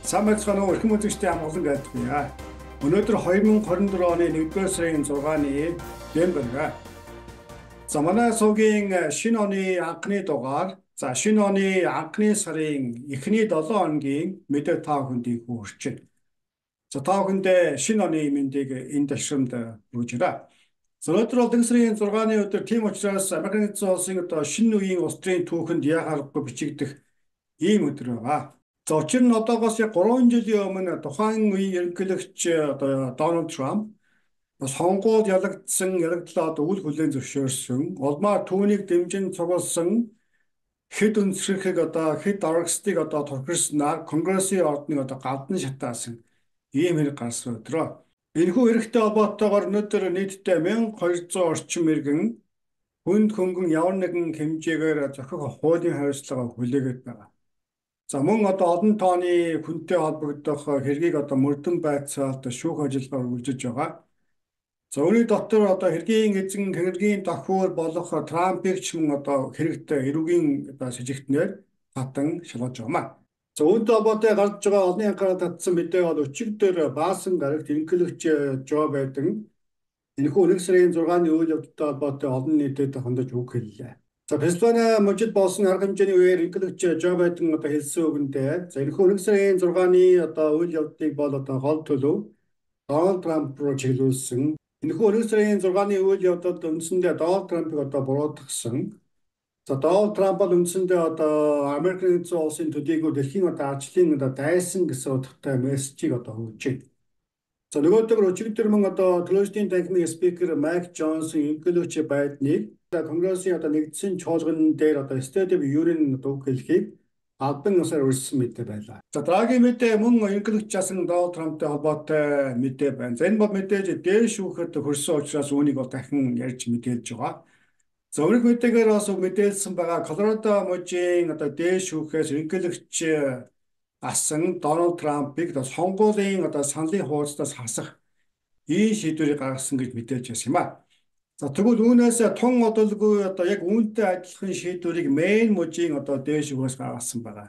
Сайн байцгаана уу эрхэм үзэгчдийн амгалан байдгүйе. Өнөөдөр 2024 оны 1-р сарын 6-ны Дэмбэрга. За манай сувгийн шинэ оны анхны дугаар. За шинэ оны анхны сарын эхний 7 хоногийн мэдээ та бүхэнд хүрч байна. За та бүхэндээ шинэ оны мэндийг энэ ташрамд хүргэж байна. Өнөөдөр бол 1 сарын 6-ны өдөр тийм учраас Америкийн нэгдсэн улсын шинэ үеийн улс төрийн түүхэнд яхаарахгүй бичигдэх ийм өдөр байна. За учир нь одоогоос яг 3 жилийн өмнө тухайн үеийн ерөнхийлөгч Дональд Трамп сонгуульд ялагдлаа үл хүлээн зөвшөөрсөн. Улмаар түүнийг дэмжин цугласан хэд өнцгөрхийг хэд аргастыг турхирснаар Конгрессийн ордныг галдан шатаасан ийм хэрэг гарсан өдрөө. Энэхүү хэрэгтэй холбоотойгоор өнөөдөр нийтдээ 1200 орчим иргэн хүнд хөнгөн ямар нэгэн хэмжээгээр зохих хуулийн хариуцлага хүлээгээд байгаа. За мөн олон тооны хүнтэй холбогдох хэргийг мөрдөн байцаалт шүүх ажиллагаа үргэлжлэж байгаа. За үүний дотор хэргийн эзэн хэргийн давхуур болох Трампыг ч мөн хэрэгтэй эрүүгийн сэжигтнээр татан шалгаж байгаамаа. За үүнтэй холбоотой гарч байгаа олонний анхаарал татсан мэдээ бол өчигдөр баасан гарагт ерөнхийлөгч Жо Байден энэхүү 1 сарын 6-ны үйл явдалтай холбоотой олон нийтэд хандаж үг хэллээ. За Пенсильвани мужид болсон арга хэмжээний үеэр ерөнхийлөгч Жо Байден хэлсэн үгэндээ за энэхүү 1 сарын 6-ны үйл явдлыг бол гол төлөв Дональд Трамп руу чиглүүлсэн. Энэхүү 1 сарын 6-ны үйл явдалд үндсэндээ Дональд Трампыг буруутгасан. За Дональд Трамп бол үндсэндээ Америкийн нэгдсэн улсын төдийгүй дэлхийн арчлын дайсан гэсэн утгатай мессежийг өгч байна. За нөгөөдөр өчигдөр мөн төлөөсдийн танхимын спикер Майк Джонсон ерөнхийлөгч Байденыг Конгрессийн нэгдсэн чуулган дээр State of Union үг хэлхийг албан ёсоор өрссөн мэдээ байлаа. За дараагийн мэдээ мөн ерөнхийлөгч асан Дональд Трамптай холбоотой мэдээ байна. За энэ бол мэдээж дээш шүүхэд хүрсэн учраас үүнийг дахин ярьж мэдээлж байгаа. За өмнөх мэдээгээр бас мэдээлсэн байгаа Колорадо мужийн дээш шүүхээс ерөнхийлөгч асан Дональд Трампыг сонгуулийн саналын хуудасаас хасах ийм шийдвэрийг гаргасан гэж мэдээлж байсан юм а. За тэгвэл үүнээс тун одолгүй яг үүнтэй адилхан шийдвэрийг Мэйн мужийн дээш шүүхээс гаргасан байгаа.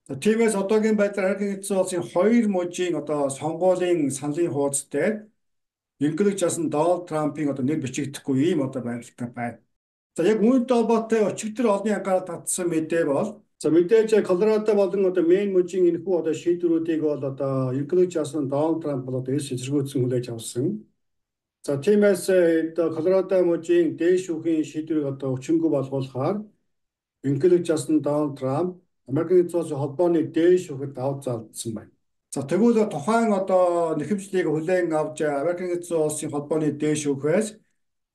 За тиймээс одоогийн байдлаар Америкийн нэгдсэн улсын 2 мужийн сонгуулийн саналын хуудас дээр ерөнхийлөгч асан Дональд Трампын нэр бичигдэхгүй ийм байдалтай байна. За яг үүнтэй холбоотой өчигдөр олонний анхаарал татсан мэдээ бол за мэдээж Колорадо болон Мэйн мужийн энэхүү шийдвэрүүдийг бол ерөнхийлөгч асан Дональд Трамп бол эсэргүүцсэн хүлээж авсан. За тиймээс Колорадо мужийн дээш шүүхийн шийдвэрийг өчнөгөө болгуулахаар ерөнхийлөгч асан Дональд Трамп Америкийн нэгдсэн улсын холбооны дээш шүүхэд давж залдсан байна. За тэгвэл тухайн нэхэмжлийг хүлээн авч Америкийн нэгдсэн улсын холбооны дээш шүүхээс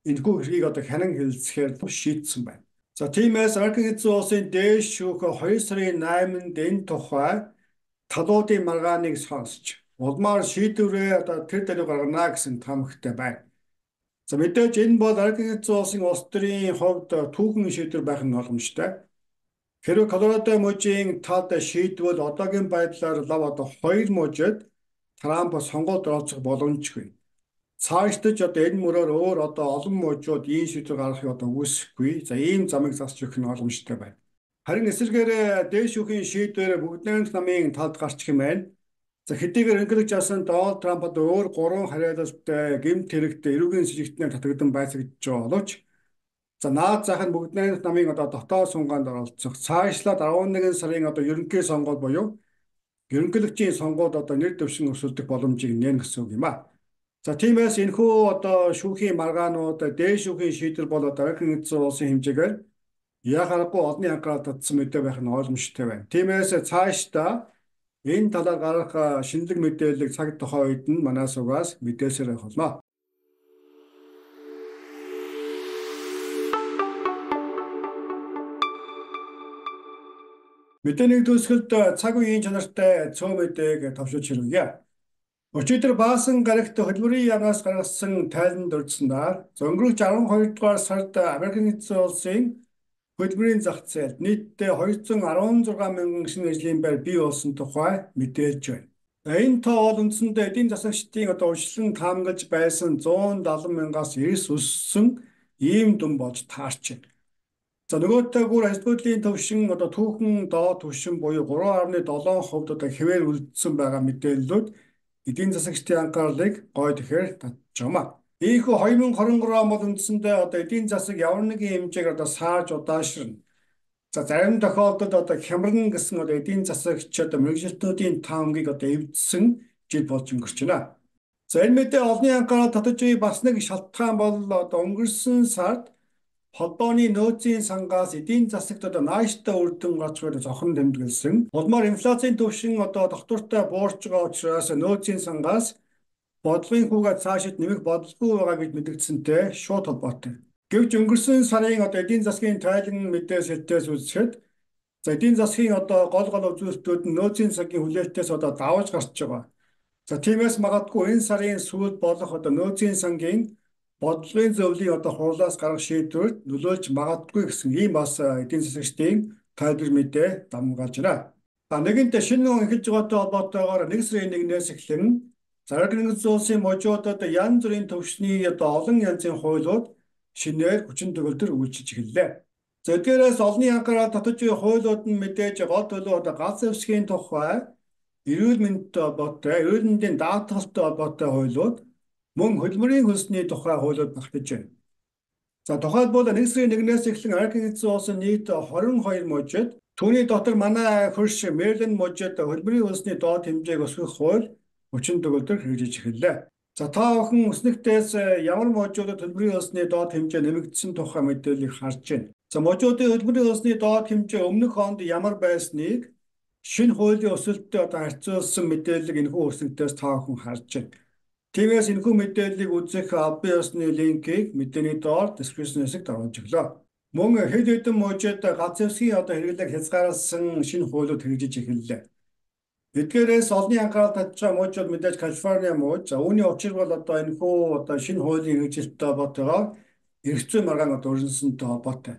энэхүү хэргийг хянан хэлэлцэхээр шийдсэн байна. За тиймээс Америкийн нэгдсэн улсын дээш шүүх 2 сарын 8-нд энэ тухай талуудын маргааныг сонсч улмаар шийдвэрээ тэр даруй гаргана гэсэн тамхтай байна. За мэдээж энэ бол Америкийн нэгдсэн улсын улс төрийн хувьд түүхэн шийдвэр байх нь боломжтой. Хэрвээ Колорадо мужийн тал шийдвэл одоогийн байдлаар лав 2 мужид Трамп сонгуульд оролцох боломжгүй. Цаашдаж энэ мөрөөр өөр олон мужууд ийм шийдвэр гаргахыг үүсэхгүй. За ийм замыг засч өгөх нь боломжтой байна. Харин эсвэргээр дээш шүүхийн шийдвэр бүгд найрамдах намын талд гарчих юм байна. За хэдийгээр ерөнхийлөгч асан Дональд Трамп өөр 3 хариалалтай гэмт хэрэгт эрүүгийн сэжигтнээр татагдсан байцаагдж байгаа боловч за наад зах нь бүгд найрамдах намын дотоод сунгаанд оролцох цаашлаад 11 сарын ерөнхий сонгуул буюу ерөнхийлөгчийн сонгуульд нэр дэвшин өсөлдөх боломжийг нээн гэсэн үг юм а. За тиймээс энэхүү шүүхийн маргаанууд дээш шүүхийн шийдвэр бол Америкийн нэгдсэн улсын хэмжээгээр яхаарахгүй олонний анхаарал татсан мэдээ байх нь ойлгомжтой байна. Тиймээс цаашдаа энэ талаар гарах шинэлэг мэдээллийг цаг тухайн үед нь манай сувгаас мэдээлсээр байх болно. Мэдээний төгсгөлд цаг үеийн чанартай цөөн мэдээг товшиж хэрэглэе. Өчигдөр баасан гарагт хөдөлмөрийн яамнаас гаргасан тайланд дурдсанаар өнгөрөх 12 дугаар сард Америкийн нэгдсэн улсын хөдөлмөрийн зах зээлд нийтдээ 216 мянган шинэ ажлын байр бий болсон тухай мэдээлж байна. Энэ тоо бол үндсэндээ эдийн засагчдын урьдчилан таамаглаж байсан 170 мянгаас эрс өссөн ийм дүн болж таарч байна. За нөгөөтэй бүр ажилтгуудлын төвшин одоо түүхэн доод түвшин буюу 3.7% одоо хэвээр үлдсэн байгаа мэдээллүүд эдийн засагчдын анхаарлыг гойд ихээр татж байна. Ийхүү 2023 он бол үндсэндээ одоо эдийн засаг ямар нэгэн хэмжээг одоо сааж удаашрна. За зарим тохиолдолд одоо хямран гэсэн одоо эдийн засагч одоо мэргэжилтнүүдийн таамгийг одоо эвдсэн жил болж өнгөрч байна. За энэ мэдээ олонний анхаарал татаж буй бас нэг шалтгаан бол одоо өнгөрсөн сард холбооны нөөцийн сангаас эдийн засагт одоо нааштай үр дүн гарч буй зохон тэмдэглэсэн. Улмаар инфляцийн түвшин одоо доктортой буурч байгаа учраас нөөцийн сангаас бодлогын хүүгээ цаашид нэмэх бодлого байгаа гэж мэдэгдсэнтэй шууд холбоотой. Гэвч өнгөрсөн сарын одоо эдийн засгийн тайлан мэдээс хэлтээс үзэхэд за эдийн засгийн одоо гол үзүүлэлтүүд нь нөөцийн цагийн хүлээлтээс одоо давж гарч байгаа. За тиймээс магадгүй энэ сарын сүүлд болох одоо нөөцийн сангийн бодлогын зөвлөлийн одоо хурлаас гарах шийдвэрт нөлөөлж магадгүй гэсэн ийм бас эдийн засагчдын тайлбар мэдээ дамгаалж байна. Нэгэнтээ шинэ он эхэлж байгаатай холбоотойгоор 1 сарын 1-ээс эхлэн Зараг нэгдсэн улсын можуудад янз бүрийн төвшний одоо олон янзын хуулиуд шинээр хүчин төгөлдөр үйлчилж эхэллээ. За эдгээрээс олонний анхаарал татаж буй хуулиуд нь мэдээж гол төлөв одоо галз зэвсгийн тухай, эрүүл мэндтэй холбоотой, эрүүл мэндийн даатгалтай холбоотой хуулиуд, мөн хөдөлмөрийн хөлсний тухай хуулиуд багтаж байна. За тухайлбал 1 сарын 1-ээс эхлэн Америк нэгдсэн улсын нийт 22 мужид, түүний дотор манай хөрш Мэриленд мужид хөдөлмөрийн хөлсний доод хэмжээг өсгөх хууль хүчин төгөлдөр хэрэгжиж эхэллээ. За та бүхэн өснөгтөөс ямар мужуудад хөдөлмөрийн хөлсний доод хэмжээ нэмэгдсэн тухай мэдээллийг харж байна. За мужуудын хөдөлмөрийн хөлсний доод хэмжээ өмнөх онд ямар байсныг шинэ хуулийн өсөлтөд одоо харьцуулсан мэдээллийг энэхүү өснөгтөөс та бүхэн харж байна. Тиймээс энэхүү мэдээллийг үзэх албан ёсны линкийг мэдээний доор description хэсэгт оруулж өглөө. Мөн хэд хэдэн мужид галз зэвсгийн одоо хэрэглээг хязгааруулсан шинэ хуулиуд хэрэгжиж эхэллээ. Эдгээрээс олонний анхаарал татж байгаа мужууд мэдээж Калифорни муж. За үүний учир бол одоо энэхүү одоо шинэ хуулийн хэрэгжилттэй холбоотойгоор эрх зүйн маргаан одоо өрнөсөнтэй холбоотой.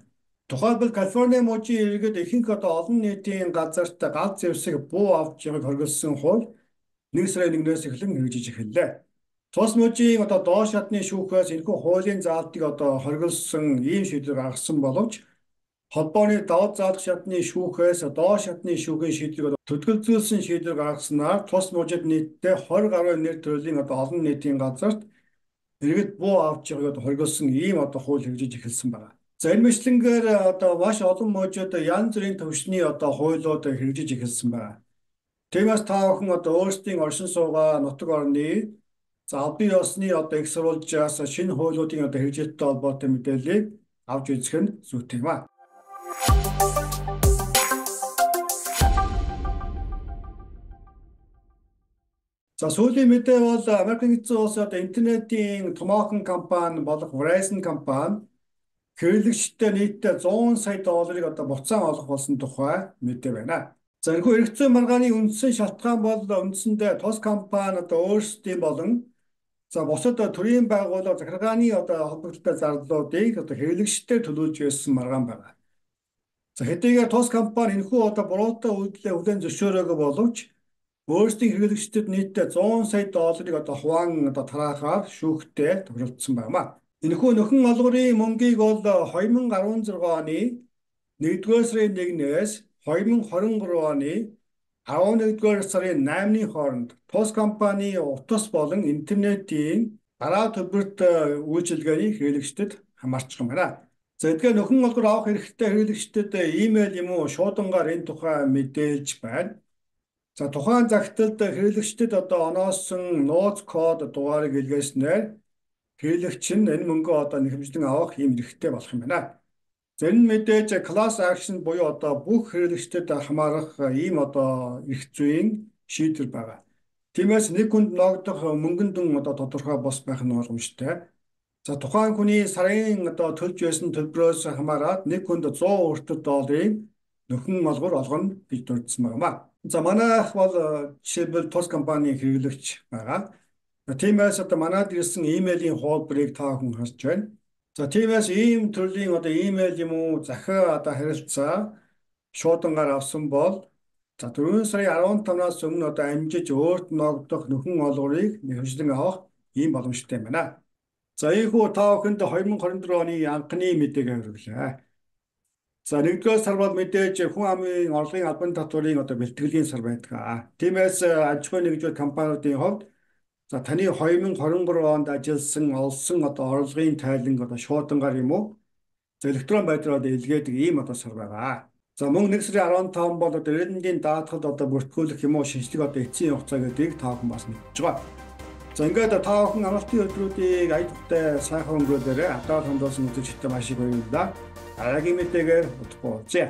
Тухайлбал Калифорни мужийн иргэд ихэнх одоо олон нийтийн газарт галз зэвсэг буу авч явахыг хориглосон хууль 1 сарын 1-ээс эхлэн хэрэгжиж эхэллээ. Тус мужийн одоо доош хадны шүүхээс энэхүү хуулийн заалтыг одоо хориглосон ийм шийдвэр гаргасан боловч холбооны давуу заалах шатны шүүхээс доош хадны шүүхийн шийдвэрийг төдөлгөлзүүлсэн шийдвэр гаргаснаар тус мужид нийтдээ 20 гаруй нэр төрлийн одоо олон нийтийн газарт иргэд буу авч явахыг хориглосон ийм одоо хууль хэрэгжиж эхэлсэн байна. За энэ мэтлэнгээр одоо маш олон мужид янз бүрийн төвшний одоо хуулиуд хэрэгжиж эхэлсэн байна. Тиймээс та бүхэн одоо өөрсдийн оршин суугаа нутаг орны за албан ёсны одоо их сурвалжаас шинэ хуулиудын одоо хэрэгжилттэй холбоотой мэдээллийг авч үзэх нь зүйтэй юм аа. За сүүлийн мэдээ бол Америк нэгдсэн улсын одоо интернетийн томоохон компани болох Verizon компани хэрэглэгчтэй нийтдээ 100 сая долларыг одоо буцаан олох болсон тухай мэдээ байна. За энэхүү эрх зүйн маргааны үндсэн шалтгаан бол үндсэндээ тус компани одоо өөрсдийн болон за бусад төрийн байгууллага захиргааны одоо холбогдолтой зарлалуудыг одоо хэрэглэгчтэй төлүүлж байсан маргаан байна. За хэдийгээр тус компани энэхүү одоо буруутай үйлдэлээ хүлээн зөвшөөрөөгүй боловч өөрсдийн хэрэглэгчдэд нийтдээ 100 сая долларыг одоо хуваан одоо тараахаар шүүхтээ тохиролцсон байна. Энэхүү нөхөн олгорын мөнгийг бол 2016 оны 1-р сарын 1-ээс 2023 оны 11-р сарын 8-ны хооронд тус компани утас болон интернетийн дараа төлбөрт үйлчилгээний хэрэглэгчдэд хамаарчих юм байна. За эдгээр нөхөн олгор авах хэрэгтэй хэрэглэгчдэд имэйл юм уу шуудангаар энэ тухай мэдээлж байна. За тухайн загталд хэрэглэгчдэд одоо оноосон нууц код дугаарыг илгээснээр хэрэглэгч нь энэ мөнгөө одоо нэхэмжлэн авах юм хэрэгтэй болох юм байна. За энэ мэдээж class action буюу одоо бүх хэрэглэгчдэд хамаарах ийм одоо эрх зүйн шийдвэр байна. Тиймээс нэг хүнд ногдох мөнгөн дүн одоо тодорхой бос байх нь боломжтой. За тухайн хүний сарын одоо төлж байсан төлбөрөөс хамаарат нэг хүнд 100 өртөд долларын нөхөн олгор олгоно гэж дурдсан байна. За манайх бол жишээлбэл тус компани хэрэглэгч байгаа. Тиймээс одоо манайд ирсэн имэйлийн хуулбарыг та бүхэн харж байна. За тиймээс ийм төрлийн одоо имэйл юм уу захиа одоо харилцаа шуудангаар авсан бол за 4 сарын 15-наас өмнө одоо амжиж өөрт ногдох нөхөн олгорыг нэхэмжлэн авах ийм боломжтой юм байна. За ийхүү та бүхэнд 2024 оны анхны мэдээг хүргэлээ. За нэгдүгээр сар бол мэдээж хүн амын орлогын албан татварын одоо бэлтгэлийн сар байдаг. Тиймээс аж ахуйн нэгжлэл компаниудын хувьд за таны 2023 онд ажилласан олсон одоо орлогын тайлан одоо шуудангаар юм уу? За электрон байдлаар илгээдэг ийм одоо сар байгаа. За мөн 1 сарын 15 бол одоо ирээдүйн даатгалд одоо бүртгүүлэх юм уу шинжлэх одоо эцсийн хугацаа гэдгийг та бүхэн бас мэдж байгаа. За ингээд та бүхэн амралтын өдрүүдийг ая тухтай сайхан өнгөрөөлөөрэй. Адаар хандуулсан үзэгчдээ маш их баярлалаа. Дараагийн мэдээгээр удахгүй уулзъя.